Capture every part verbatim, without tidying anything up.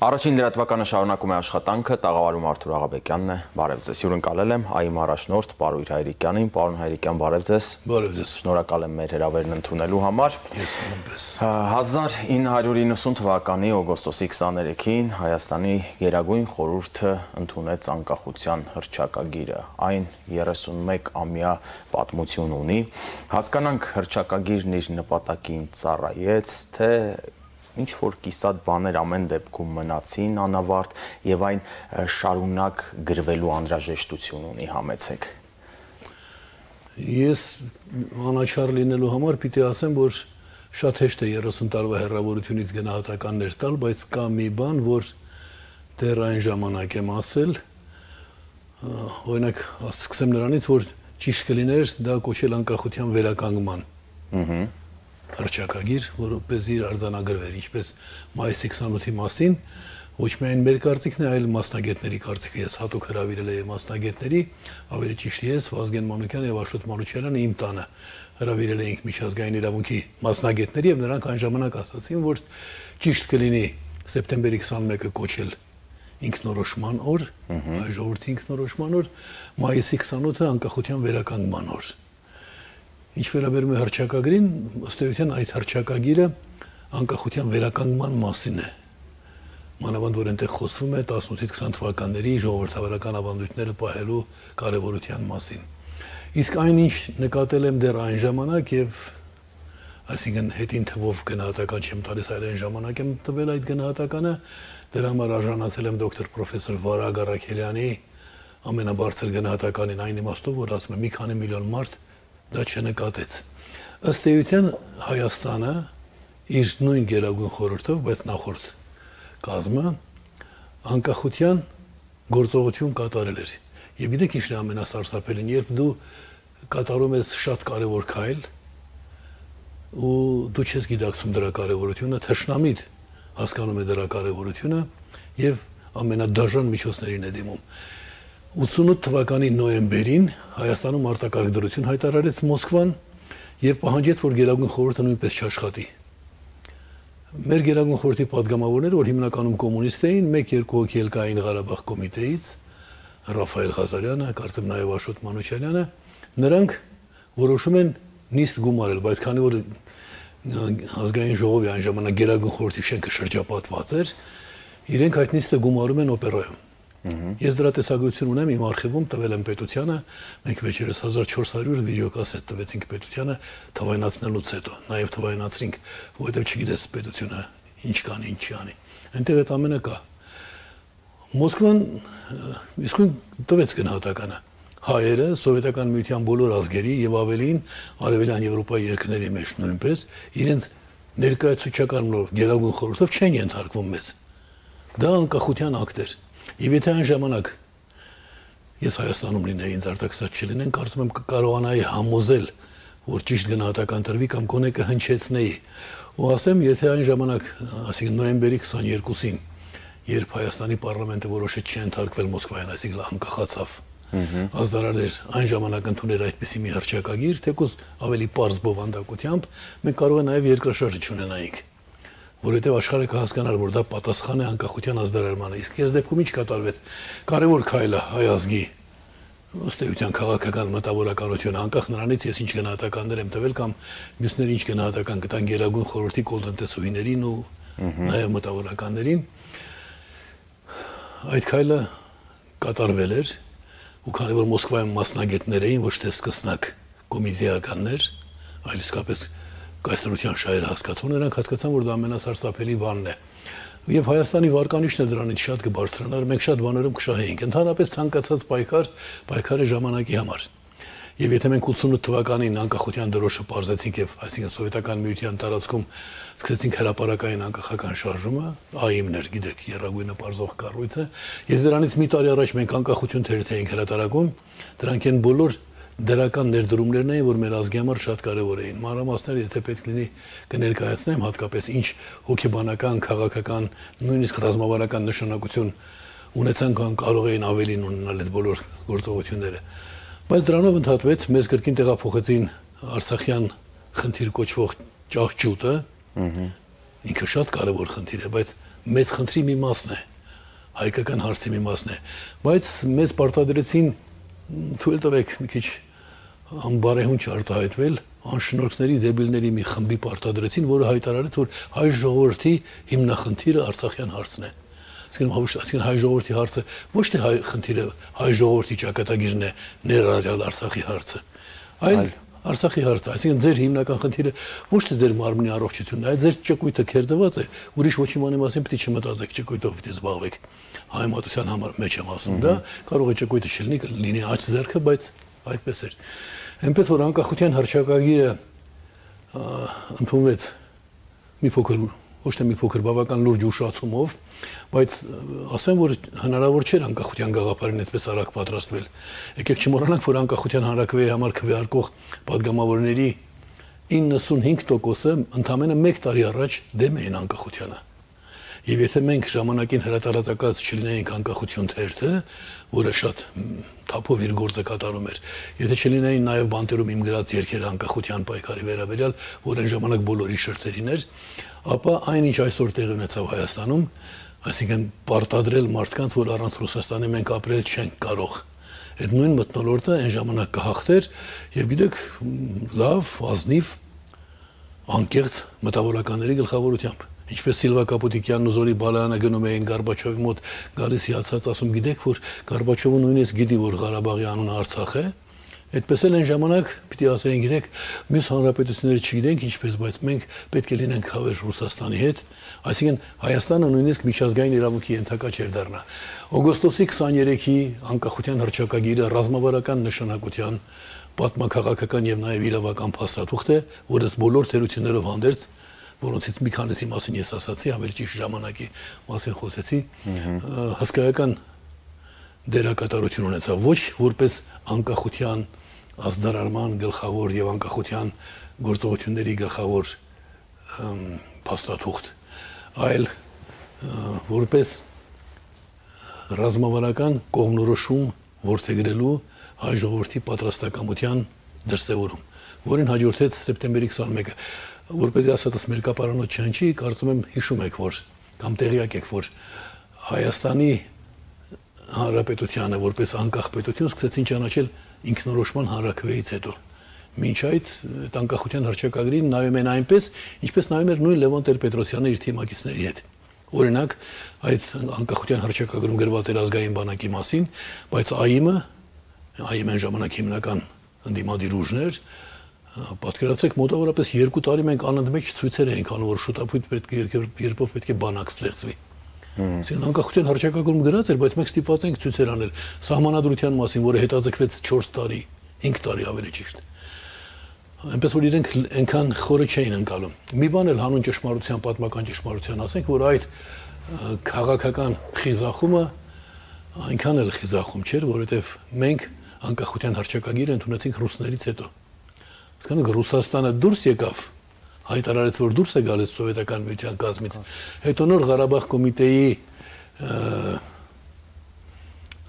Առաջին լրատվականը շարունակում է աշխատանքը, տաղավարում Արթուր Աղաբեկյանն է, բարև ձեզ, հյուրընկալել եմ ԱԻ-մ առաջնորդ Պարույր Հայրիկյանին, պարոն Հայրիկյան, բարև ձեզ, բարև ձեզ, շնորհակալ եմ մեր հրավերն ընդունելու համար։ Ես նույնպես։ հազար ինը հարյուր իննսուն թվականի օգոստոսի քսաներեքին Հայաստանի Գերագույն խորհուրդը ընդունեց անկախության հռչակագիրը, այն երեսունմեկ ամյա պատմություն ունի, հասկանանք հռչակագիրն իր նպատակին ծառայեց, թե ինչ որ կիսատ բաներ ամեն դեպքում մնացին անավարտ եւ այն շարունակ գրվելու անհրաժեշտություն ունի, համեցեք։ Ես անաչառ լինելու համար պիտի ասեմ, որ շատ հեշտ է երեսուն տարվա հեռավորությունից գնահատականներ տալ, բայց կա մի բան, որ դեռ այն ժամանակ եմ ասել, օրինակ սկսեմ նրանից, որ ճիշտ կլիներ դա կոչել անկախության վերականգնման հռչակագիր, որպեսզի արձանագրվեր, ինչպես մայիսի քսանութի մասին, ոչ միայն մեր կարծիքն է, այլ մասնագետների կարծիքը, ես հատուկ հրավիրել եմ մասնագետների, ավելի ճիշտ ես, Վազգեն Մանուկյանը եւ Աշոտ Մանուչյանը իմ տանը հրավիրել էինք միջազգային իրավունքի մասնագետների եւ նրանք այն ժամանակ ասացին, որ ճիշտ կլինի սեպտեմբերի քսանմեկը կոչել ինքնորոշման օր, այ ժողովրդի ինքնորոշման օր, մայիսի քսանութը անկախության վերականգնման օր։ Ինչ վերաբերում է հռչակագրին, ըստ էության այդ հռչակագիրը անկախության վերականգնման մասին է։ Մանավանդ որ այնտեղ խոսվում է տասնութից քսան թվականների ժողովրդավարական ավանդույթները պահելու կարևորության մասին։ Իսկ այնինչ նկատել եմ դեռ այն ժամանակ եւ այսինքն հետին թվով գնահատական չեմ տալիս, այլ այն ժամանակ եմ տվել այդ գնահատականը, դրա համար արժանացել եմ դոկտոր պրոֆեսոր Վարագ Առաքելյանի ամենաբարձր գնահատականին, այն իմաստով, որ ասում է մի քանի միլիոն մարդ դա չնկատեց։ Ըստ էության Հայաստանը իր նույն Գերագույն խորհրդով, բայց նախորդ կազմը անկախության գործողություն կատարել էր։ Եվ գիտեք ինչն է ամենասարսափելին, երբ դու կատարում ես շատ կարևոր քայլ ու դու չես գիտակցում դրա կարևորությունը, թշնամիդ հասկանում է դրա կարևորությունը եւ ամենադաժան միջոցներին է դիմում։ ութսունութ թվականի նոյեմբերին Հայաստանում արտակարգ դրություն հայտարարեց Մոսկվան եւ պահանջեց, որ Գերագույն խորհուրդը նույնպես չաշխատի։ Մեր Գերագույն խորհրդի падգամավորները, որ հիմնականում կոմունիստ էին, մեկ-երկու հոգի էլ կային Ղարաբաղ կոմիտեից, Ռաֆայել Ղազարյանը, կարծեմ նաեւ Աշոտ Մանուչյանը, նրանք որոշում են նիստ գումարել, բայց քանի որ ազգային ժողովի այն ժամանակ Գերագույն խորհրդի շենքը շրջապատված էր, իրենք այդ նիստը գումարում են օպերայում։ Ես դրա տեսագրություն ունեմ իմ արխիվում, տվել եմ պետությանը, մենք վերջերս հազար չորս հարյուր վիդեոկասետ տվեցինք պետությանը թվայնացնելուց հետո, նաև թվայնացրինք, որովհետև չգիտես պետությունը ինչ կանի, ինչ չի անի։ Այնտեղ այդ ամենը կա։ Մոսկվան իսկույն տվեց գնահատականը։ Հայերը, սովետական միության բոլոր ազգերի եւ ավելին արևելյան Եվրոպայի երկրների մեջ նույնպես իրենց ներկայացուցչականով Գերագույն խորհրդով չեն ենթարկվում մեզ։ Դա անկախության ակտ էր։ Եվ եթե այն ժամանակ ես Հայաստանում լինեի, ինձ արտաքսած չլինեն, կարծում եմ կկարողանայի համոզել, որ ճիշտ գնահատական տրվի կամ գոնե կհնչեցնեի։ Ու ասեմ, եթե այն ժամանակ, այսինքն նոյեմբերի քսաներկուսին, երբ Հայաստանի պարլամենտը որոշեց չընդհարկվել Մոսկվայից, այսինքն անկախացավ, ազդարարներ այն ժամանակ ընդուներ այդպիսի մի հռչակագիր, թեկուզ ավելի պարզ բովանդակությամբ, մենք կարող է նաև երկրաշարժ չունենայինք, որովհետև աշխարհը կհասկանար, որ դա պատասխան է անկախության ազդարարմանը։ Իսկ այս դեպքում ինչ կատարվեց։ Կարևոր քայլը հայ ազգի ըստ էության քաղաքական մտավորականությունը, անկախ նրանից ես ինչ գնահատականներ եմ տվել կամ մյուսները ինչ գնահատական կտան Գերագույն խորհրդի կոլտնտեսուհիներին ու նաև մտավորականներին, այդ քայլը կատարվել էր, ու քանի որ Մոսկվայում մասնագետներ էին, ոչ թե սկսնակ կոմիզիականներ, այլ իսկապես կայսրության շահերը հասկացող, նրանք հասկացան, որ դա ամենասարսափելի բանն է։ Եվ Հայաստանի վարկանիշն է դրանից շատ կբարձրանար, մենք շատ բաներում կշահեինք, ընդհանրապես ցանկացած պայքար, պայքարի ժամանակի համար։ Եվ եթե մենք ութսունութ թվականին անկախության դրոշը պարզեցինք եւ այսինքն սովետական միության տարածքում սկսեցինք հրապարակային անկախական շարժումը, ԱԻՄ-ն էր, գիտեք, երրագույնը պարզող կառույցը, եթե դրանից մի տարի առաջ մենք անկախություն թերթ էինք հրատարակում, դրանք են բոլոր դրական ներդրումներն էին, որ մեր ազգի համար շատ կարևոր էին։ Մանրամասները, եթե պետք լինի կներկայացնեմ, հատկապես ինչ հոգեբանական, քաղաքական, նույնիսկ ռազմավարական նշանակություն ունեցան կամ կարող էին ավելին ունենալ այդ բոլոր գործողությունները։ Բայց դրանով ընդհատվեց, մեզ կրկին տեղափոխեցին Արցախյան խնդիր կոչվող ճահճուտը, ինքը շատ կարևոր խնդիր է, բայց մեծ խնդրի մի մասն է, հայկական հարցի մի մասն է, բայց մեզ պարտադրեցին թույլ տվեք մի քիչ անբարեհունչ արտահայտվել, անշնորհքների դեբիլների մի խմբի պարտադրեցին, որը հայտարարեց, որ հայ ժողովրդի հիմնախնդիրը Արցախյան հարցն է։ Այսինքն հայ ժողովրդի հարցը ոչ թե հայ խնդիրը, հայ ժողովրդի ճակատագիրն է, ներառյալ Արցախի հարցը, այլ Արցախի հարցը, այսինքն ձեր հիմնական խնդիրը ոչ թե ձեր մարմնի առողջությունն է, այլ ձեր ճկույթը քերծված է, ուրիշ ոչի բանի մասին պիտի չմտածեք, ճկույթով պիտի զբաղվեք։ Հայմատության համար մեջ եմ ասում, դա կարող է ճկույթը չլինի, լինի աջ ձեռքը, բայց այդպես էր։ Այնպես որ անկախության հռչակագիրը ընդունվեց մի փոքր, ոչ թե մի փոքր, բավական լուրջ ուշացումով, բայց ասեմ, որ հնարավոր չէր անկախության գաղափարին այդպես արագ պատրաստվել։ Եկեք չմոռանանք, որ անկախության հանրաքվեի համար քվեարկող падգամավորների իննսունհինգ տոկոսը ընդամենը մեկ տարի առաջ դեմ էին անկախությանը։ Եվ եթե մենք ժամանակին հրատարակած չլինեինք անկախություն թերթը, որը շատ թափով իր գործը կատարում էր, եթե չլինեին նաև բանտերում իմ գրած երգերը անկախության պայքարի վերաբերյալ, որ այն ժամանակ բոլորի շրթերին էր, ապա այնինչ այսօր տեղի ունեցավ Հայաստանում, այսինքն պարտադրել մարդկանց, որ առանց Ռուսաստանի մենք ապրել չենք կարող։ Այդ նույն մթնոլորտը այն ժամանակ կհաղթեր, եւ գիտեք, լավ, ազնիվ, անկեղծ մտավորականների գլխավորությամբ։ Ինչպես Սիլվա Կապուտիկյանն ու Զորի Բալայանը գնում էին Գորբաչովի մոտ, գալիս հիացած ասում, գիտեք, որ Գորբաչովը նույնիսկ գիտի, որ Ղարաբաղի անունը Արցախ է, այդպես էլ այն ժամանակ պիտի ասեին, գիտեք, մյուս հանրապետությունները չգիտենք ինչպես, բայց մենք պետք է լինենք հավերժ Ռուսաստանի հետ, այսինքն Հայաստանը նույնիսկ միջազգային իրավունքի ենթակա չէր դառնա։ Օգոստոսի քսաներեքի անկախության հռչակագիրը ռազմավարական նշանակության, պատմաքաղաքական եւ նաեւ իրավական փաստաթուղթ է, որը բոլոր թերություններով հանդերձ, որոնցից մի քանիսի մասին ես ասացի, ավելի ճիշտ ժամանակի մասին խոսեցի, հսկայական դերակատարություն ունեցավ, ոչ որպես անկախության ազդարարման գլխավոր եւ անկախության գործողությունների գլխավոր փաստաթուղթ, այլ որպես ռազմավարական կողմնորոշում որդեգրելու հայ ժողովրդի պատրաստակամության դրսևորում, որին հաջորդեց սեպտեմբերի քսաներկը, որպեսզի ասածս մերկապարանոց չհնչի, կարծում եմ հիշում եք, որ կամ տեղյակ եք, որ Հայաստանի Հանրապետությանը որպես անկախ պետություն սկսեցին ճանաչել ինքնորոշման հանրաքվեից հետո։ Մինչ այդ անկախության հռչակագրին նայում են այնպես, ինչպես նայում էր նույն Լևոն Տեր-Պետրոսյանը իր թիմակիցների հետ։ Օրինակ, այդ անկախության հռչակագրում գրված էր ազգային բանակի մասին, բայց ԱԻՄ-ը, ԱԻՄ-ն այն ժամանակ հիմնական ընդդիմադիր ուժներ, պատկերացրեք, մոտավորապես երկու տարի մենք անընդմեջ ցույցեր էինք անում, որ շուտապույտ պետք է երկրով պետք է բանակ ստեղծվի։ Այսինքն անկախության հռչակագրում գրած էր, բայց մենք ստիպված ենք ցույցեր անել սահմանադրության մասին, որը հետաձգվեց չորս տարի, հինգ տարի ավելի ճիշտ։ Այնպես որ իրենք այնքան խորը չէին ընկալում։ Մի բան էլ հանուն ճշմարտության, պատմական ճշմարտության ասենք, որ այդ քաղաքական խիզախումը այնքան էլ խիզախում չէր, որովհետև մենք անկախության հռչակագիրը ընդունեցինք ռուսներից հետո։ Իսկանում Ռուսաստանը դուրս եկավ, հայտարարեց, որ դուրս է գալիս սովետական միության կազմից, հետո նոր Ղարաբաղ կոմիտեի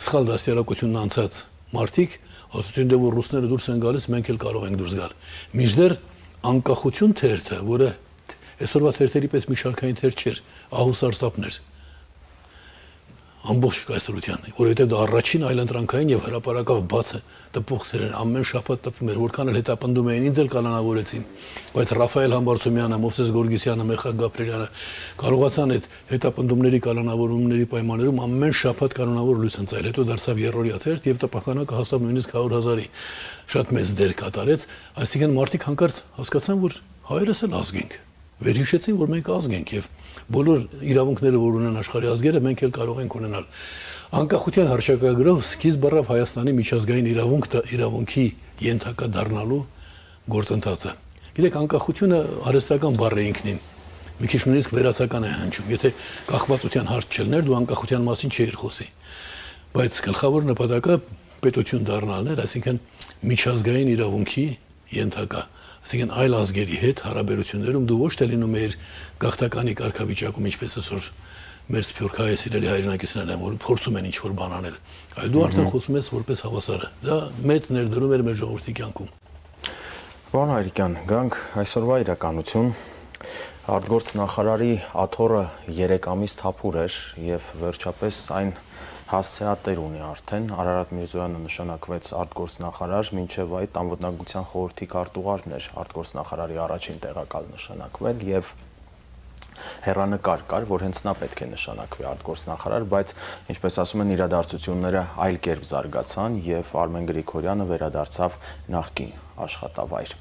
սխալ դաստիարակությունն անցած մարդիկ ասացին, դե որ ռուսները դուրս են գալիս, մենք էլ կարող ենք դուրս գալ։ Մինչդեռ անկախություն թերթը, որը այսօրվա թերթերի պես մի շարքային թերթ չէր, ահուսարսափն էր ամբողջ կայսրության, որովհետև դա առաջին այլընտրանքային եւ հրապարակավ բացը տպող թերեր ամեն շաբաթ տպվում էր, որքան էլ հետապնդում էին, ինձ էլ կանանավորեցին, բայց Ռաֆայել Համբարձումյանը, Մովսես Գորգիսյանը, Մեխա Գաբրելյանը կարողացան այդ հետապնդումների կանոնավորումների պայմաններում ամեն շաբաթ կանոնավոր լույս ընծայել, հետո դարձավ երրորդյա թերթ եւ տպականակը հասավ նույնիսկ հարյուր հազարի, շատ մեծ դեր կատարեց, այսինքն մարդիկ հանկարծ հասկացան, որ հայերս էլ ազգ ենք, վերհիշեցին, որ մենք ազգ ենք եւ բոլոր իրավունքները, որ ունեն աշխարհի ազգերը, մենք էլ կարող ենք ունենալ։ Անկախության հռչակագրով սկիզբ առավ Հայաստանի միջազգային իրավունք իրավունքի ենթակա դառնալու գործընթացը։ Գիտեք, անկախությունը արհեստական բառ է ինքնին։ Մի քիչ նույնիսկ վերացական է հնչում։ Եթե կախվածության հարց չլներ, դու անկախության մասին չէիր խոսի։ Բայց գլխավոր նպատակը պետություն դառնալն էր, այսինքն միջազգային իրավունքի ենթակա Այսինքն այլ ազգերի հետ հարաբերություններում դու ոչ թե լինում ես գաղթականի կարգավիճակում, ինչպես այսօր մեր սփյուռքահայ սիրելի հայրենակիցներն են, որ փորձում են ինչ-որ բան անել, այլ դու արդեն խոսում ես որպես հավասարը։ Դա մեծ ներդրում էր մեր ժողովրդի կյանքում։ Պարոն Հայրիկյան, գանք այսօրվա իրականություն։ Արտգործնախարարի աթոռը երեք ամիս թափուր էր եւ վերջապես այն հասցեատեր ունի արդեն։ Արարատ Միրզոյանը նշանակվեց արտգործնախարար, մինչև այդ անվտանգության խորհրդի քարտուղարն էր արտգործնախարարի առաջին տեղակալ նշանակվել եւ հեռանկար կար, որ հենց նա պետք է նշանակվի արտգործնախարար, բայց ինչպես ասում են իրադարձությունները այլ կերպ զարգացան եւ Արմեն Գրիգորյանը վերադարձավ նախկին աշխատավայր։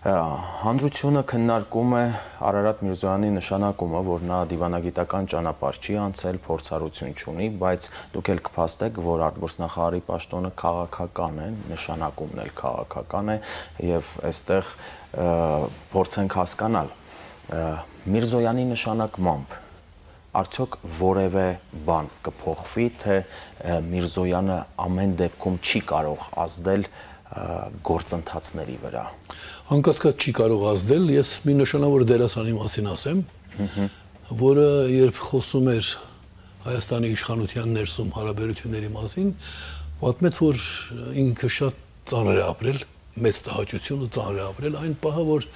Հանրությունը քննարկում է Արարատ Միրզոյանի նշանակումը, որ նա դիվանագիտական ճանապարհ չի անցել, փորձառություն չունի, բայց դուք էլ կփաստեք, որ արտգործնախարարի պաշտոնը քաղաքական է, նշանակումն էլ քաղաքական է եւ այստեղ փորձենք հասկանալ Միրզոյանի նշանակմամբ արդյոք որևէ բան կփոխվի, թե Միրզոյանը ամեն դեպքում չի կարող ազդել գործընթացների վրա։ Անկասկած չի կարող ազդել, ես մի նշանավոր դերասանի մասին ասեմ, որը երբ խոսում էր Հայաստանի իշխանության ներսում հարաբերությունների մասին, պատմեց, որ ինքը շատ ծանր է ապրել, մեծ տհաճություն ու ծանր է ապրել, այն պահը, որ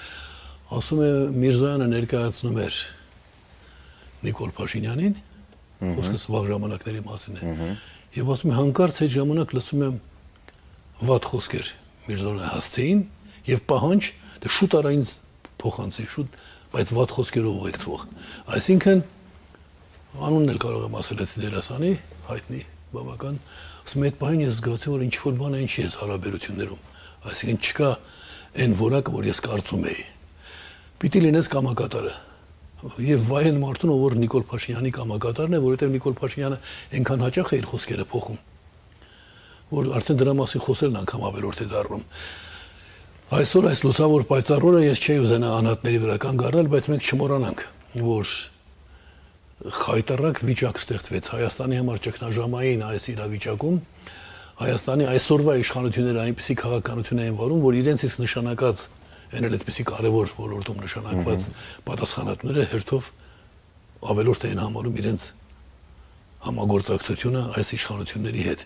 ասում է Միրզոյանը ներկայացնում էր Նիկոլ Փաշինյանին, խոսքս վաղ ժամանակների մասին է, եւ ասում է հանկարծ այդ ժամանակ լսում եմ վատ խոսքեր Միրզոյանը հասցեին եւ պահանջ, դե շուտ արա ինձ փոխանցի, շուտ, բայց վատ խոսքերով ուղեկցվող։ Այսինքն անունն էլ կարող եմ ասել այդ դերասանի, հայտնի բավական, ասում է այդ պահին ես զգացի, որ ինչ որ բան է ինչի է հարաբերություններում, այսինքն չկա այն որակը, որ ես կարծում էի։ Պիտի լինես կամակատարը եւ վայեն մարդուն, որ Նիկոլ Փաշինյանի կամակատարն է, որովհետեւ Նիկոլ Փաշինյանը այնքան հաճախ է իր խոսքերը փոխում, որ արդեն դրա մասին խոսելն անգամ ավելորդ է դառնում։ Այսօր այս լուսավոր պայծառ օրը ես չէի ուզենա անհատների վրա կանգ առնել, բայց մենք չմոռանանք, որ խայտարակ վիճակ ստեղծվեց Հայաստանի համար ճգնաժամային այս իրավիճակում, Հայաստանի այսօրվա իշխանությունները այնպիսի քաղաքականություն էին վարում, որ իրենցից նշանակած այն էլ այդպիսի կարևոր ոլորտում նշանակված պատասխանատուները հերթով ավելորդ էին համարում իրենց համագործակցությունը այս իշխանությունների հետ։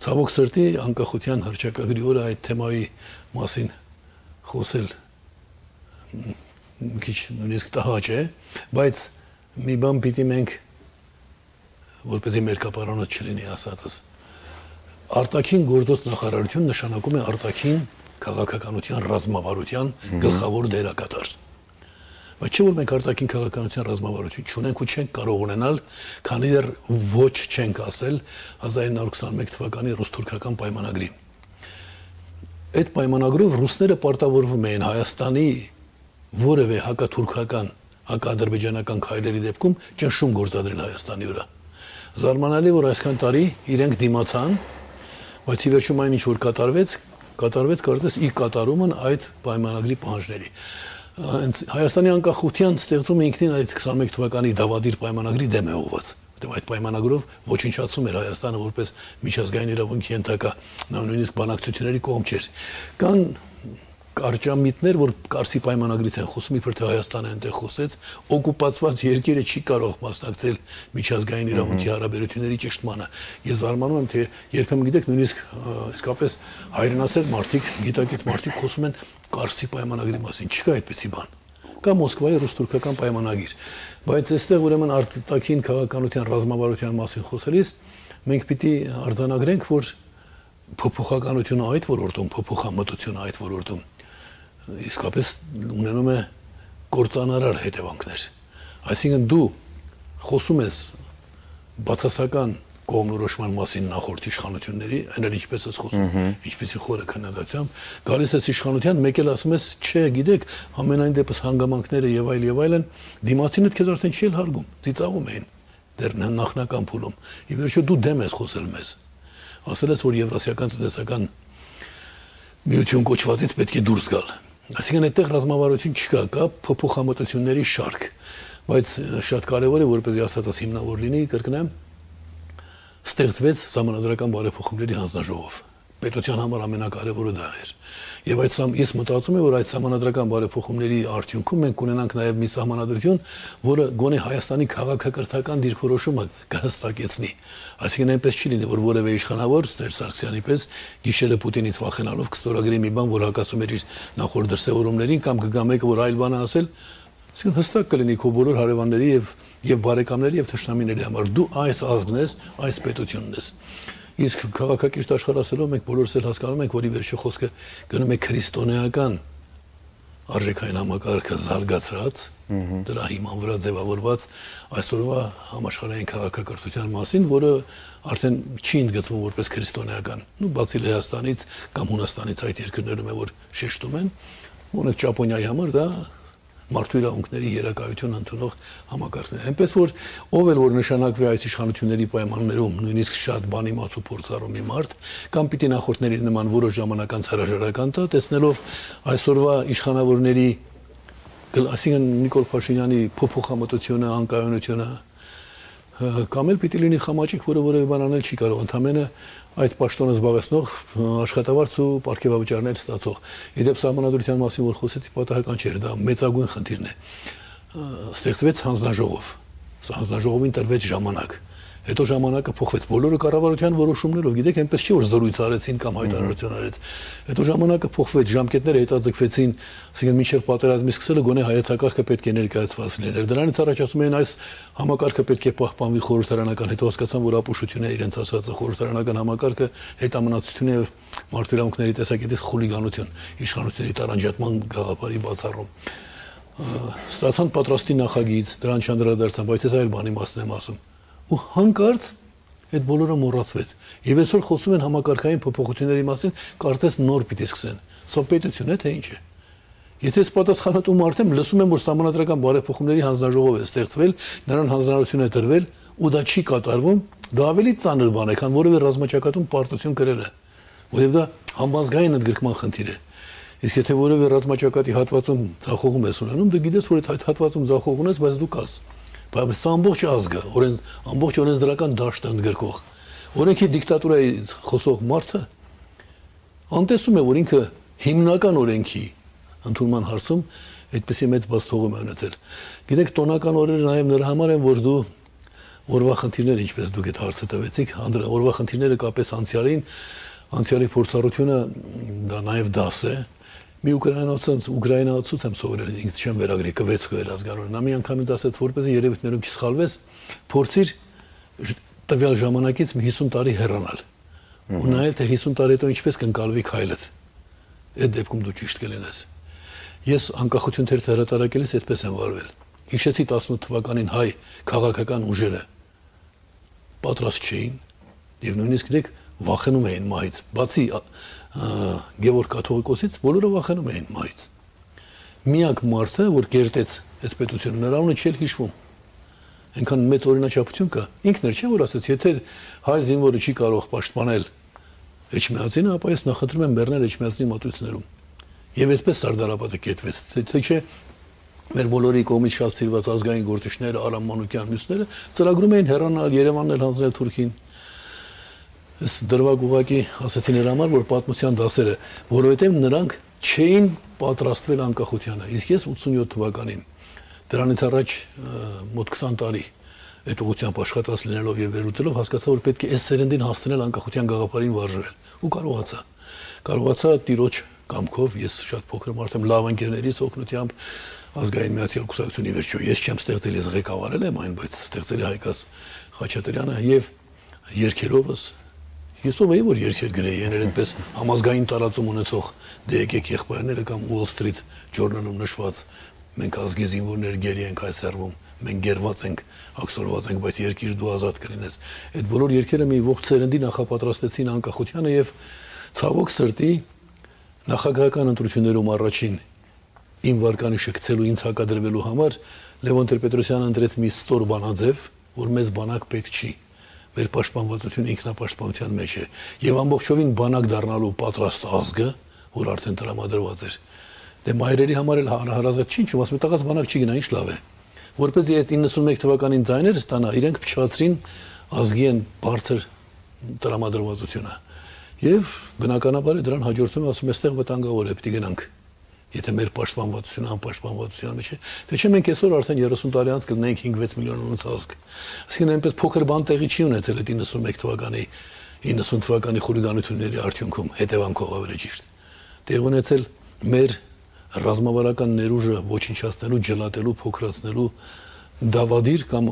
Ցավոք սրտի անկախության հռչակագրի օրը այդ թեմայի մասին խոսել մի քիչ նույնիսկ տհաճ է, բայց մի բան պիտի մենք որպեսզի մեր կապարանոց չլինի ասածս, արտաքին գործոց նախարարություն նշանակում է արտաքին քաղաքականության ռազմավարության գլխավոր դերակատար։ Բայց չէ որ մենք արտաքին քաղաքականության ռազմավարություն չունենք ու չենք կարող ունենալ, քանի դեռ ոչ չենք ասել հազար իննսուն քսաներկու թվականի ռուս-թուրքական պայմանագրին։ Այդ պայմանագրով ռուսները պարտավորվում էին Հայաստանի որևէ հակաթուրքական, հակաադրբեջանական քայլերի դեպքում ճնշում գործադրել Հայաստանի վրա։ Զարմանալի որ այսքան տարի իրենք դիմացան, բայց ի վերջում այն ինչ որ կատարվեց, կատարվեց կարծես ի կատարումն այդ պայմանագրի պահանջների։ Հայաստանի անկախության ստեղծումը ինքնին այդ քսաներկու թվականի դավադիր պայմանագրի դեմ է ուղղված։ Որտեղ այդ պայմանագրով ոչնչացում էր Հայաստանը որպես միջազգային իրավունքի ենթակա, նա նույնիսկ բանակցությունների կողմ չէր։ Կան կարճամիտներ, որ Կարսի պայմանագրից են խոսում, իբր թե Հայաստանը այնտեղ խոսեց, օկուպացված երկիրը չի կարող մասնակցել միջազգային իրավունքի հարաբերությունների ճշտմանը։ Ես զարմանում եմ, թե երբեմն գիտեք, նույնիսկ իսկապես հայրենասեր մարդիկ, գիտակից մարդիկ խոսում են Կարսի պայմանագրի մասին, չկա այդպիսի բան։ Կա Մոսկվայի ռուս-թուրքական պայմանագիր, բայց այստեղ ուրեմն արտաքին քաղաքականության ռազմավարության մասին խոսելիս մենք պիտի արձանագրենք, որ փոփոխականությունը այդ ոլորտում, փոփոխամտությունը այդ ոլորտում իսկապես ունենում է կործանարար հետևանքներ։ Այսինքն դու խոսում ես բացասական կողմնորոշման մասին նախորդ իշխանությունների, այն էլ ինչպես ես խոսում, ինչպեսի խորը քննադատությամբ, գալիս ես իշխանության, մեկ էլ ասում ես, չէ, գիտեք, ամենայն դեպս հանգամանքները եւ այլ եւ այլն, դիմացինը քեզ արդեն չի հարգում, ծիծաղում էին դեռ նախնական փուլում։ Ի վերջո դու դեմ ես խոսել մեզ։ Ասել ես, որ Եվրասիական տնտեսական միություն կոչվածից պետք է դուրս գալ։ Այսինքն այդտեղ ռազմավարություն չկա, կա փոփոխամտությունների շարք, բայց շատ կարևոր է, որպեսզի ասածս հիմնավոր լինի, կրկնեմ, ստեղծվեց Սահմանադրական բարեփոխումների հանձնաժողով։ Պետության համար ամենակարևորը դա էր։ Եվ այդ ես մտածում եմ, որ այդ Սահմանադրական բարեփոխումների արդյունքում մենք ունենանք նաև մի սահմանադրություն, որը գոնե Հայաստանի քաղաքակրթական դիրքորոշումը կհստակեցնի։ Այսինքն այնպես չի լինի, որ որևէ իշխանավոր Սերժ Սարգսյանի պես գիշերը Պուտինից վախենալով կստորագրի մի բան, որ հակասում էր իր նախորդ դրսևորումներին, կամ կգա մեկը, որ այլ բան է ասել, Այսինքն հստակ կլինի քո բոլոր հարևանների եւ եւ բարեկամների եւ թշնամիների համար դու այս ազգն ես, այս պետությունն ես։ Իսկ քաղաքակիրթ աշխարհասելով մենք բոլորս էլ հասկանում ենք, որ ի վերջո խոսքը գնում է քրիստոնեական արժեքային համակարգը զարգացրած, դրա հիման վրա ձևավորված այսօրվա համաշխարհային քաղաքակրթության մասին, որը արդեն չի ընդգծվում որպես քրիստոնեական։ Նու բացի Լեհաստանից կամ Հունաստանից այդ երկրներում է որ շեշտում են, ունեք Ճապոնիայի համար դա մարդու իրավունքների երակայություն ընդունող համակարգն է։ Այնպես որ ով էլ որ նշանակվի այս իշխանությունների պայմաններում նույնիսկ շատ բան իմաց ու փորձառու մի մարդ կամ պիտի նախորդների նման որոշ ժամանակ անց հրաժարական տա, տեսնելով այսօրվա իշխանավորների այսինքն Նիկոլ Փաշինյանի փոփոխամտությունը, անկայունությունը կամ էլ պիտի լինի խամաճիկ, որը որևէ բան անել չի կարող, ընդամենը այդ պաշտոնը զբաղեցնող աշխատավարձ ու պարգևավճարներ ստացող։ Իդեպ սահմանադրության մասին որ խոսեցի, պատահական չէր, դա մեծագույն խնդիրն է։ Ստեղծվեց հանձնաժողով։ Հանձնաժողովին տրվեց ժամանակ։ Հետո ժամանակը փոխվեց բոլորը կառավարության որոշումներով, գիտեք, այնպես չի որ զորույց արեցին կամ հայտարարություն արեց։ Հետո ժամանակը փոխվեց, ժամկետները հետաձգվեցին, ասենք մինչև պատերազմի սկսելը գոնե հայեցակարգը պետք է ներկայացված լիներ։ Դրանից առաջ ասում էին այս համակարգը պետք է պահպանվի խորհրդարանական, հետո հասկացան, որ ապուշությունը իրենց ասածը խորհրդարանական համակարգը հետամնացություն է մարդու իրավունքների տեսակետից խուլիգանություն, իշխանությունների տարանջատման գաղափարի բացառում։ Ստացան պատրաստի նախագիծ, դրան չանդրադարձան, բայց ես այլ բանի մասին եմ ասում։ Ու հանկարծ այդ բոլորը մոռացվեց։ Եվ այսօր խոսում են համակարգային փոփոխությունների մասին, կարծես նոր պիտի սկսեն։ Սա պետություն է, թե ինչ է։ Եթե ես պատասխանատու մարդ եմ, լսում եմ, որ սահմանադրական բարեփոխումների հանձնաժողով է ստեղծվել, նրան հանձնարարություն է տրվել, ու դա չի կատարվում, դա ավելի ծանր բան է, քան որևէ ռազմաճակատում պարտություն կրելը, որովհետև դա համբազգային ընդգրկման խնդիր է։ Իսկ եթե որևէ ռազմաճակատի հատվածում ձախողում ես ունենում, դու գիտես, որ այդ հատվածում ձախող ունես, բայց դու կաս։ Բայց սա ամբողջ ազգը, օրեն ամբողջ օրենսդրական դաշտը ընդգրկող։ Օրենքի դիկտատուրայի խոսող մարդը անտեսում է, որ ինքը հիմնական օրենքի ընդունման հարցում այդպեսի մեծ բացթողում է ունեցել։ Գիտեք, տոնական օրերը նաև նրա համար են, որ դու օրվա խնդիրները, ինչպես դուք այդ հարցը տվեցիք, օրվա խնդիրները կապես անցյալին, անցյալի փորձառությունը դա նաև դաս է։ Մի ուկրաինացած ուկրաինացուց եմ սովորել, ինձ չեմ վերագրի կվեցկո էր ազգանորը։ Նա մի անգամ ինձ ասաց, որպեսզի երևույթներում չսխալվես, փորձիր տվյալ ժամանակից մի հիսուն տարի հեռանալ։ Ու նայել թե հիսուն տարի հետո ինչպես կընկալվի քայլդ։ Այդ դեպքում դու ճիշտ կլինես։ Ես անկախություն թերթ հրատարակելիս այդպես եմ վարվել։ Հիշեցի տասնութ թվականին հայ քաղաքական ուժերը պատրաստ չէին եւ նույնիսկ դեք վախենում էին մահից։ Բացի Գևորգ կաթողիկոսից բոլորը վախենում էին մահից։ Միակ մարդը, որ կերտեց այս պետությունը, նրա անունը չէր հիշվում։ Այնքան մեծ օրինաչափություն կա։ Ինքն էր չէ որ ասաց, եթե հայ զինվորը չի կարող պաշտպանել Էջմիածինը, ապա ես նախընտրում եմ բեռնել Էջմիածնի մատույցներում։ Եվ այդպես Սարդարապետը կետվեց։ Թե չէ մեր բոլորի կողմից շատ սիրված ազգային գործիչները, Արամ Մանուկյան, մյուսները ծրագրում էին հեռանալ, Երևանն էլ հանձնել Թուրքին։ Ես դրվագ ուղակի ասացի նրա համար, որ պատմության դասերը, որովհետև նրանք չէին պատրաստվել անկախությանը։ Իսկ ես ութսունյոթ թվականին դրանից առաջ մոտ քսան տարի այդ ուղղությամբ աշխատած լինելով եւ վերլուծելով հասկացա, որ պետք է այս սերնդին հասցնել անկախության գաղափարին վարժվել ու կարողացա։ Կարողացա տիրոջ կամքով, ես շատ փոքր մարդ եմ, լավ ընկերներիս օգնությամբ ազգային միացյալ կուսակցությունի վերջո ես չեմ ստեղծել, ես ղեկավարել եմ այն, բայց ստեղծել է Հայկաս Խաչատրյանը եւ երկերովս ես ով էի որ երկեր գրեի, եներ այդպես համազգային տարածում ունեցող դե եկեք եղբայրները կամ Wall Street Journal-ում նշված մենք ազգի զինվորներ գերի ենք այս հեռվում, մենք գերված ենք, ակսորված ենք, բայց երկիր դու ազատ կլինես։ Այդ բոլոր երկերը մի ողջ սերնդի նախապատրաստեցին անկախությանը եւ ցավոք սրտի նախագահական ընտրություններում առաջին իմ վարկանիշը գցելու ինձ հակադրվելու համար Լևոն Տեր-Պետրոսյանը ընտրեց մի ստոր բանաձև, որ մեզ բանակ պետք չի։ Մեր պաշտպանվածությունը ինքնապաշտպանության մեջ է եւ ամբողջովին բանակ դառնալու պատրաստ ազգը, որ արդեն տրամադրված էր։ Դե մայրերի համար էլ հարազատ չի, ինչու՞ ասում տղաս բանակ չի գնա, ինչ լավ է։ Որպեսզի այդ իննսունմեկ թվականին ձայները ստանա, իրենք փչացրին ազգի են բարձր տրամադրվածությունը։ Եվ բնականաբար դրան հաջորդում ասում էստեղ վտանգավոր է, պիտի գնանք։ Եթե մեր պաշտպանվածությունը անպաշտպանվածության մեջ է, թե չէ մենք այսօր արդեն երեսուն տարի անց կլինենք հինգ-վեց միլիոնանոց ազգ։ Այսինքն այնպես փոքր բան տեղի չի ունեցել այդ իննսունմեկ թվականի իննսուն թվականի խուլիգանությունների արդյունքում, հետևանքով ավելի ճիշտ։ Տեղ ունեցել մեր ռազմավարական ներուժը ոչնչացնելու, ջլատելու, փոքրացնելու դավադիր կամ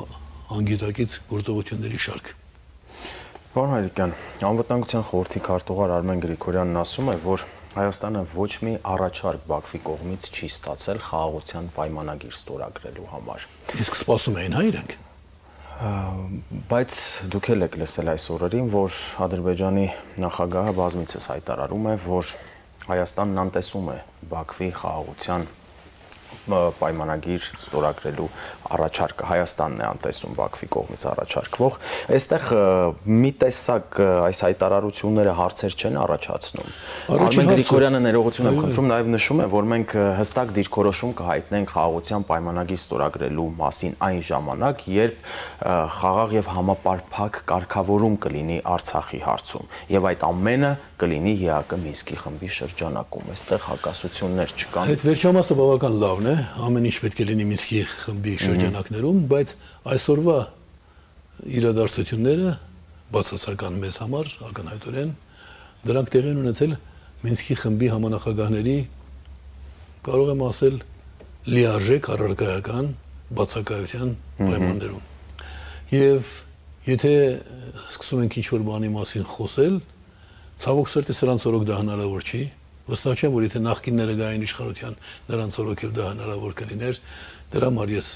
անգիտակից գործողությունների շարք։ Պարոն Հայրիկյան, Անվտանգության խորհրդի քարտուղար Արմեն Գրիգորյանն ասում է, որ Հայաստանը ոչ մի առաջարկ Բաքվի կողմից չի ստացել խաղաղության պայմանագիր ստորագրելու համար։ Իսկ սպասում էին հա իրենք։ Բայց դուք էլ եք լսել այս օրերին, որ Ադրբեջանի նախագահը բազմիցս հայտարարում է, որ Հայաստանն անտեսում է Բաքվի խաղաղության պայմանագիր ստորագրելու առաջարկը, Հայաստանն է անտեսում Բաքվի կողմից առաջարկվող, այստեղ մի տեսակ այս հայտարարությունները հարցեր չեն առաջացնում։ Արմեն Գրիգորյանը ներողություն եմ խնդրում, նաև նշում է, որ մենք հստակ դիրքորոշում կհայտնենք խաղաղության պայմանագիր ստորագրելու մասին այն ժամանակ, երբ խաղաղ եւ համապարփակ կարգավորում կլինի Արցախի հարցում, եւ այդ ամենը կլինի ԵԱԿ Մինսկի խմբի շրջանակում։ Այստեղ հակասություններ չկան։ Այդ վերջամասը բավական լավն է, ամեն ինչ պետք է լինի Մինսկի խմբի շրջանակներում, բայց այսօրվա իրադարձությունները բացասական մեզ համար ակնհայտորեն դրանք տեղի են ունեցել Մինսկի խմբի համանախագահների, կարող եմ ասել, լիարժեք առարկայական բացակայության պայմաններում։ Եվ եթե սկսում ենք ինչ-որ բանի մասին խոսել, ցավոք սրտի սրանց օրոք դա հնարավոր չի։ Վստահ չեմ, որ եթե նախկինները գային իշխանության, նրանց օրոք էլ դա հնարավոր կլիներ։ Դրա համար ես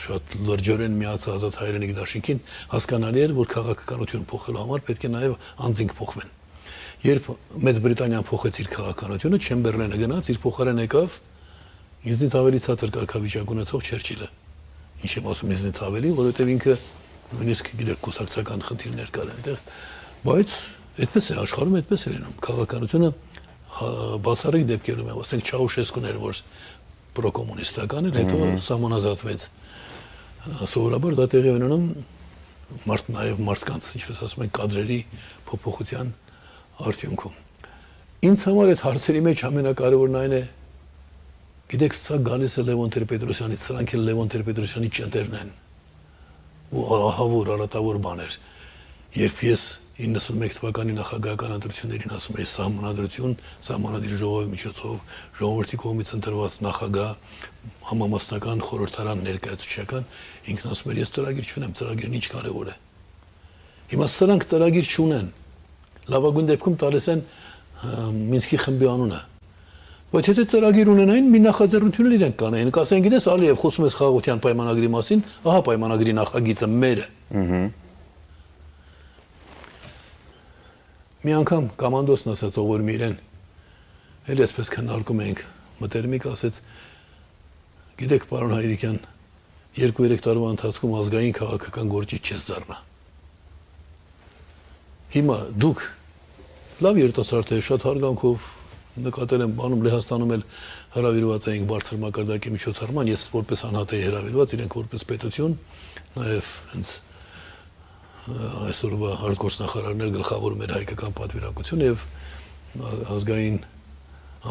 շատ լրջորեն միացա Ազատ հայրենիք դաշինքին, հասկանալի էր, որ քաղաքականություն փոխելու համար պետք է նաև անձինք փոխվեն։ Երբ Մեծ Բրիտանիան փոխեց իր քաղաքականությունը, Չեմբերլենը գնաց, իր փոխարեն եկավ ինձնից ավելի ցածր կարգավիճակ ունեցող Չերչիլը։ Ինչ եմ ասում ինձնից ավելի, որովհետև ինքը նույնիսկ գիտեք կուսակցական խնդիրներ կար այնտեղ, բայց այդպես է աշխարհում, այդպես է լինում։ Քաղաքականությունը բացառիկ դեպքերում է, ասենք Չաուշեսկուն էր, որ պրոկոմունիստական էր, հետո սահմանազատվեց։ Սովորաբար դա տեղի ունենում մարդ նաև մարդկանց, ինչպես ասում են, կադրերի փոփոխության արդյունքում։ Ինձ համար այդ հարցերի մեջ ամենակարևորն այն է, գիտեք, սա գալիս է Լևոն Տեր-Պետրոսյանից, սրանք էլ Լևոն Տեր-Պետրոսյանի ճտերն են։ Ու ահավոր, արատավոր բաներ։ Երբ ես իննսունմեկ թվականի նախագահական ընտրություններին ասում էի սահմանադրություն, սահմանադիր ժողովի միջոցով, ժողովրդի կողմից ընտրված նախագահ, համամասնական խորհրդարան ներկայացուցչական, ինքն ասում էր ես ծրագիր չունեմ, ծրագիրն ինչ կարևոր է։ Հիմա սրանք ծրագիր չունեն։ Լավագույն դեպքում տալիս են Մինսկի խմբի անունը։ Բայց եթե ծրագիր ունենային, մի նախաձեռնություն իրենք կանեին, կասեն, գիտես, Ալիև, խոսում ես խաղաղության պայմանագրի մասին, ահա պայմանագրի նախագիծը մերը։ Մի անգամ կամանդոսն ասաց ողորմի իրեն, էլ այսպես քննարկում էինք, մտերմիկ ասեց, գիտեք, պարոն Հայրիկյան, երկու-երեք տարվա ընթացքում ազգային քաղաքական գործիչ չես դառնա։ Հիմա դուք լավ երիտասարդ եք, շատ հարգանքով նկատել եմ, բանում Լեհաստանում էլ հրավիրված էինք բարձր մակարդակի միջոցառման, ես որպես անհատ էի հրավիրված, իրենք որպես պետություն, նաև հենց այսօրվա արտգործնախարարներ գլխավորում էր հայկական պատվիրակությունը եւ ազգային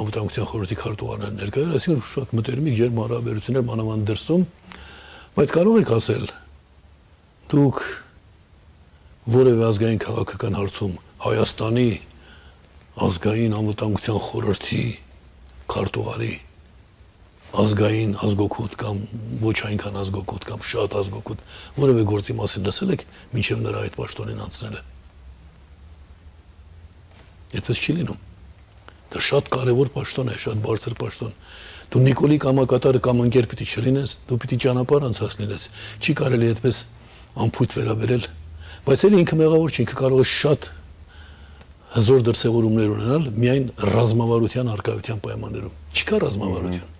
անվտանգության խորհրդի քարտուղարն ներկայ էր, այսինքն շատ մտերմիկ ջերմ հարաբերություններ մանավանդ դրսում, բայց կարող եք ասել դուք որևէ ազգային քաղաքական հարցում Հայաստանի ազգային անվտանգության խորհրդի քարտուղարի ազգային ազգօգուտ կամ ոչ այնքան ազգօգուտ կամ շատ ազգօգուտ որևէ գործի մասին լսել եք մինչև նրա այդ պաշտոնին անցնելը։ Այդպես չի լինում։ Դա շատ կարևոր պաշտոն է, շատ բարձր պաշտոն։ Դու Նիկոլի կամակատարը կամ ընկեր պիտի չլինես, դու պիտի ճանապարհ անցած լինես։ Չի կարելի այդպես ամփոփ վերաբերել, բայց էլ ինքը մեղավոր չի, ինքը կարող է շատ հզոր դրսևորումներ ունենալ միայն ռազմավարության արկայության պայմաններում։ Չկա ռազմավարություն։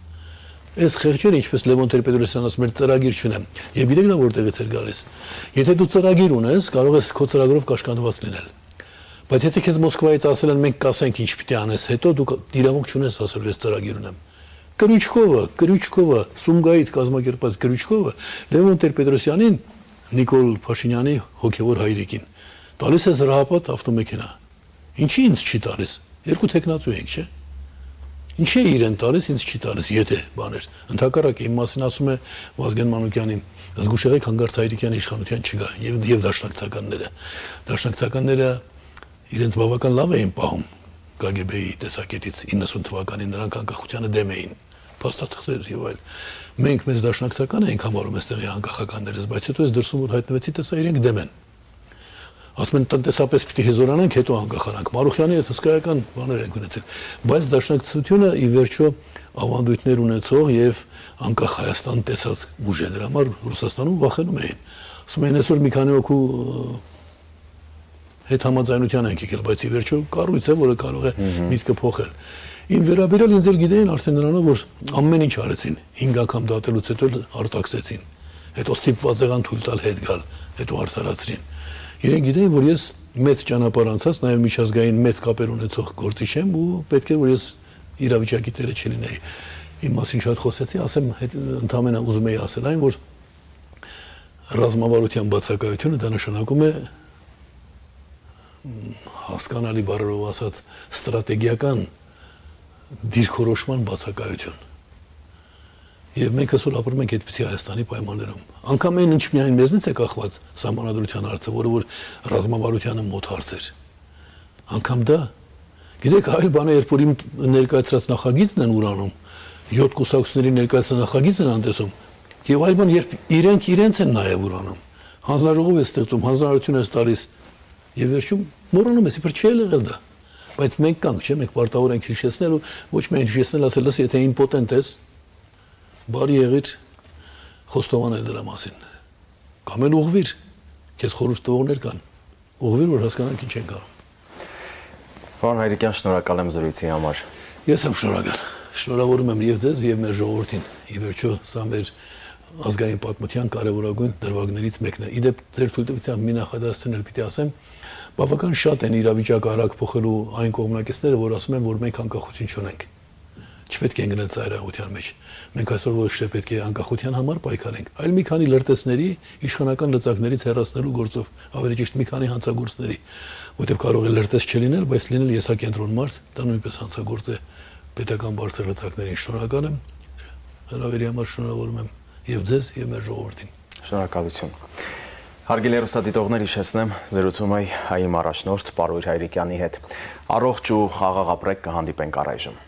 Այս խեղճերը, ինչպես Լևոն Տեր-Պետրոսյանն ասում էր, ծրագիր չունեմ։ Եվ գիտեք նա որտեղից էր գալիս։ Եթե դու ծրագիր ունես, կարող ես քո ծրագրով կաշկանդված լինել։ Բայց եթե քեզ Մոսկվայից ասել են մենք կասենք ինչ պիտի անես, հետո դու իրավունք չունես ասել ես ծրագիր ունեմ։ Կրուչկովը, Կրուչկովը, Սումգայիթ կազմակերպած Կրուչկովը Լևոն Տեր-Պետրոսյանին, Նիկոլ Փաշինյանի հոգևոր հայրիկին տալիս է զրահապատ ավտոմեքենա։ Ինչի ինձ չի տալիս։ Երկու տեխնացու ենք, չէ՞։ Ինչ է իրեն տալիս, ինձ չի տալիս, եթե բաներ։ Ընդհակառակը իմ մասին ասում է Վազգեն Մանուկյանին, զգուշեղեք հանգարց Հայրիկյանի իշխանության չգա, եւ եւ դաշնակցականները։ Դաշնակցականները իրենց բավական լավ էին պահում, K G B-ի տեսակետից իննսուն թվականին նրանք անկախությանը դեմ էին, փաստաթղթեր եւ այլ։ Մենք մեզ դաշնակցական էինք համարում այստեղի անկախականներս, բայց հետո ես դրսում որ հայտնվեցի, տեսա իրենք դեմ են։ Ասում են տնտեսապես պիտի հեզորանանք, հետո անկախանանք։ Մարուխյանի հետ հսկայական բաներ են ունեցել, բայց դաշնակցությունը ի վերջո ավանդույթներ ունեցող եւ անկախ Հայաստան տեսած ուժ է, դրա համար Ռուսաստանում վախենում էին։ Ասում են այսօր մի քանի օքու հետ համաձայնության ենք եկել, բայց ի վերջո կառույց է, որը կարող է միտքը փոխել։ Ին վերաբերյալ ինձ էլ գիտեին արդեն նրանով, որ ամեն ինչ արեցին, հինգ անգամ դատելուց հետո արտաքսեցին, հետո ստիպված եղան թույլ տալ հետ գալ, հետո արդարացրին։ Իրենք գիտեին, որ ես մեծ ճանապարհ անցած, նաև միջազգային մեծ կապեր ունեցող գործիչ եմ ու պետք է որ ես իրավիճակի տերը չլինեի։ Իմ մասին շատ խոսեցի, ասեմ, ընդհանրապես ուզում էի ասել այն, որ ռազմավարության բացակայությունը դա նշանակում է հասկանալի բառերով ասած ստրատեգիական դիրքորոշման բացակայություն։ Եվ մենք այսօր ապրում ենք այդպիսի Հայաստանի պայմաններում։ Անկամ այն ինչ միայն մեզնից է կախված սահմանադրության հարցը, որը որ ռազմավարությանը մոտ հարց էր։ Անկամ դա, գիտեք, այլ բան է, երբ որ իմ ներկայացրած նախագիծն են ուրանում, յոթ կուսակցությունների ներկայացրած նախագիծն են անտեսում, եւ այլ բան, երբ իրենք իրենց են նաեւ ուրանում, հանձնաժողով է ստեղծում, հանձնարարություն է տալիս, եւ վերջում մոռանում ես, իբր չի եղել դա։ Բայց մենք կանք, չէ՞, մենք պարտավոր ենք հիշեցնել ու ոչ միայն հիշեցնել, ասել, լսի, եթե իմպոտենտ ես, բարի եղիր խոստովանել դրա մասին։ Կամ էլ ուղղվիր, քեզ խորհուրդ տվողներ կան, ուղղվիր, որ հասկանանք ինչ ենք անում։ Պարոն Հայրիկյան, շնորհակալ եմ զրույցի համար։ Ես եմ շնորհակալ։ Շնորհավորում եմ եւ ձեզ եւ մեր ժողովրդին։ Ի վերջո սա մեր ազգային պատմության կարևորագույն դրվագներից մեկն է։ Իդեպ ձեր թույլտվությամբ մի նախադասություն էլ պիտի ասեմ, բավական շատ են իրավիճակը արագ փոխելու այն կողմնակիցները, որ ասում են, որ մենք անկախություն չունենք։ Չպետք է գնալ ծայրահեղության մեջ։ Մենք այսօր ոչ թե պետք է անկախության համար պայքարենք, այլ մի քանի լրտեսների, իշխանական լծակներից հեռացնելու գործով, ավելի ճիշտ մի քանի հանցագործների, որտեղ կարող է լրտես չլինել, բայց լինել եսակենտրոն մարդ, դա նույնպես հանցագործ է պետական բարձր լծակներին։ Շնորհակալ եմ, հրավերի համար շնորհավորում եմ եւ ձեզ եւ մեր ժողովրդին։ Շնորհակալություն։ Հարգելի հեռուստադիտողներ, հիշեցնեմ, զրուցում եմ հայի առաջնորդ Պարույր Հայրիկյանի հետ։ Առողջ ու խաղաղ ապրեք, կհանդիպենք առայժմ։